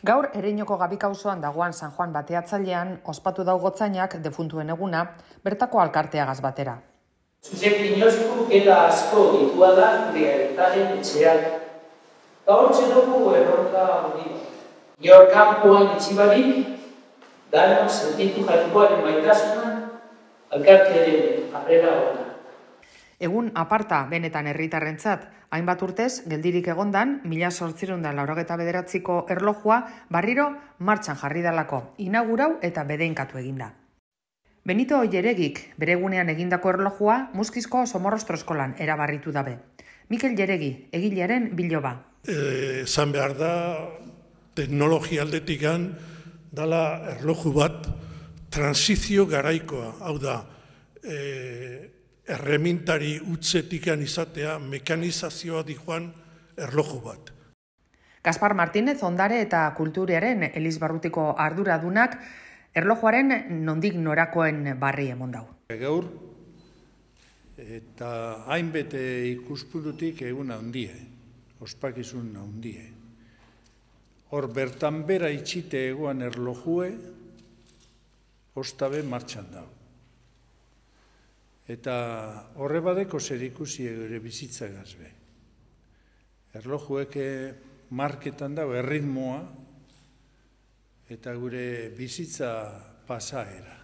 Gaur Ereñoko Gabika auzoan dagoan San Juan bateatzailean ospatu dau gotzainak defuntuen eguna, bertako alkarteagaz batera. Zuzek inozko gela asko ditua da gure aitaren etxeak. Gaur txedugu erronka hori bat. Nior kanpoan etxibarik, dano sentitu jaikoaren maitasunan, alkartearen harrera hona. Egun aparta benetan herritarrentzat, hainbat urtez, geldirik egondan, 1899ko erlojua barriro martxan jarri dalako, inaugurau eta bedeinkatu eginda. Benito Jeregik bere egunean egindako erlojua Muskizko Somorrostro eskolan erabarritu dabe. Mikel Jeregi, egilearen biloba. Zan behar da, teknologia aldetikan dala erloju bat transizio garaikoa, hau da, erremintari utzetikan izatea mekanizazioa dijoan erloju bat. Gaspar Martínez ondare eta kulturaren Elizbarrutiko arduradunak erlojuaren nondik norakoen barri emon dau. Gaur eta hainbete ikuspuntutik egun handie, ospakizun handie. Hor bertan bera itxite egoan erlojue, ostabe martxan dau. Eta horre badeko zer ikusi ere bizitza gazbe. Erlojuek marketan dago erritmoa eta gure bizitza pasaera.